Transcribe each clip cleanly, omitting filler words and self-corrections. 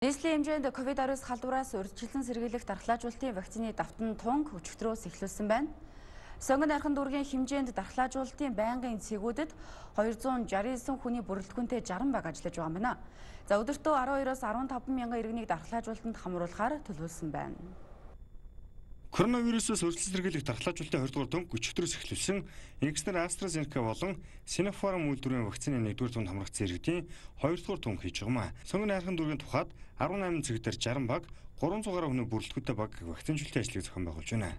Нийслэлийн хэмжээнд COVID-19 халдвараас урьдчилан сэргийлэх дархлаажуулалтын вакцины давтан тунг өчигдрөөс эхлүүлсэн байна. Сонгон найрхан дүүргийн хэмжээнд дархлаажуулалтын байнгын цэгүүдэд 269 хүний бүрэлдэхүүнтэй 60 баг ажиллаж байгаа юм байна. За өдөртөө 12-оос 15 мянган иргэнийг дархлаажуулалтанд хамруулахаар төлөвлөсөн байна. Коронавирусээс урьдчилан сэргийлэх дархлаажуулалтын 2 дугаар тунг өчигдрөөс эхлүүлсэн Инкснер AstraZeneca болон Sinopharm үйлдвэрийн вакцины 1 дугаар тунд хамрагдсан иргэдийн 2 дугаар тунг хийж байгаа юм. Сонгон найрхан дүүргийн тухайд 18 цаг дээр 60 баг, 300 гаруй хүний бүрэлдэхүүнтэй баг вакцинжуулалтын ажлыг зохион байгуулж байна.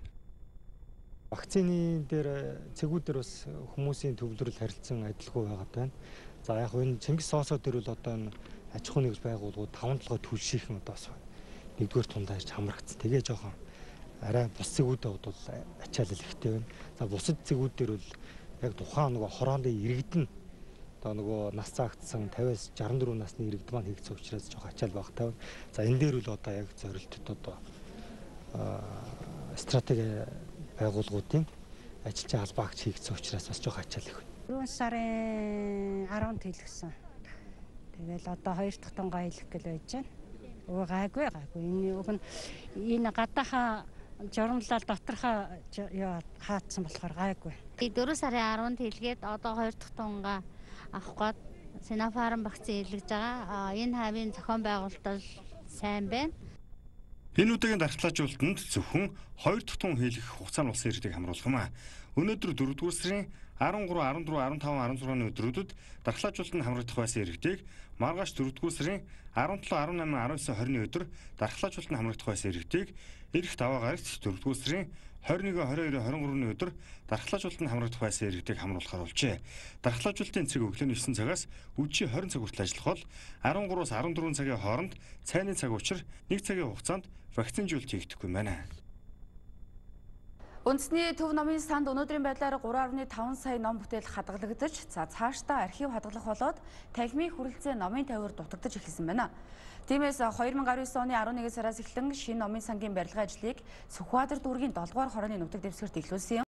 Вакцины дээр цэгүүдээр бас хүмүүсийн төвлөрөл харилцан адилгүй байгаад байна. За яг энэ Чингис соосоо дээр бол одоо энэ аж ахуй нэгж байгууллагууд 5-7 төлшийнхэн одоо бас 1 дугаар тундаа ирж хамрагдсан. Тэгээ жоохон арай бус цэгүүдээ бол ачаалал ихтэй байна. За бусад цэгүүд дээр бол яг тухайн нөгөө хорооны иргэдэн одоо нөгөө нас цаагтсан 50-аас 64 насны иргэд маань хийгдсэн учраас жоохон ачаал багтай байна. За энэ дээр бол одоо яг зорилтод одоо стратеги байгууллагуудын ажилчин албаагч хийгдсэн учраас бас жоохон ачаал их байна. 4 сарын 10-нд хэлгэсэн. Тэгэл одоо 2 дахь тунгаа хэлэх гэл байж байна. Гайгүй. Энэ гадаахаа журмлал доторхоо хаацсан болохоор гайгүй. 4 сарын 10-нд хэлгээд одоо 2 дахь тунгаа авах гээд Sinopharm вакцины илгэж байгаа. Энэ хавийн зохион байгуулалт сайн байна. Энэ удаагийн дархлаажуулалтанд зөвхөн 2 дахь тун хийх хугацаанд болсон иргэдийг хамруулах юм а. Өнөөдөр 4 дугаар сарын 13, 14, 15, 16-ны өдрүүдэд дархлаажуулалтанд хамрагдах байсан иргэдийг маргааш 4 дугаар сарын 17, 18, 19, 20-ны өдөр дархлаажуулалтанд хамрагдах байсан иргэдийг эх даваа гарагт 4 дугаар сарын 21, 22, 23-ны өдөр дархлаажуулалтанд хамрагдах байсан иргэдийг хамруулахаар болжээ. Дархлаажуулалтын цэг өглөөний 9 цагаас өдөржин 20 цаг хүртэл ажиллах бол 13-аас 14 цагийн хооронд цайны цаг учир 1 цагийн хугацаанд вакцинжуулалт хийгдэхгүй байна. Үндэсний төв номын санд өнөөдрийн байдлаар 3.5 сая ном бүтээл хадгалагдаж, цаашдаа архив хадгалах болоод танхимын хүрэлцээ номын тавиар дутагдаж эхэлсэн байна. Тиймээс 2019 оны 11 сараас эхлэн шинэ номын сангийн барилгын ажлыг Сүхбаатар дүүргийн 7 дугаар хорооны нутаг дэвсгэрт эхлүүлсэн юм.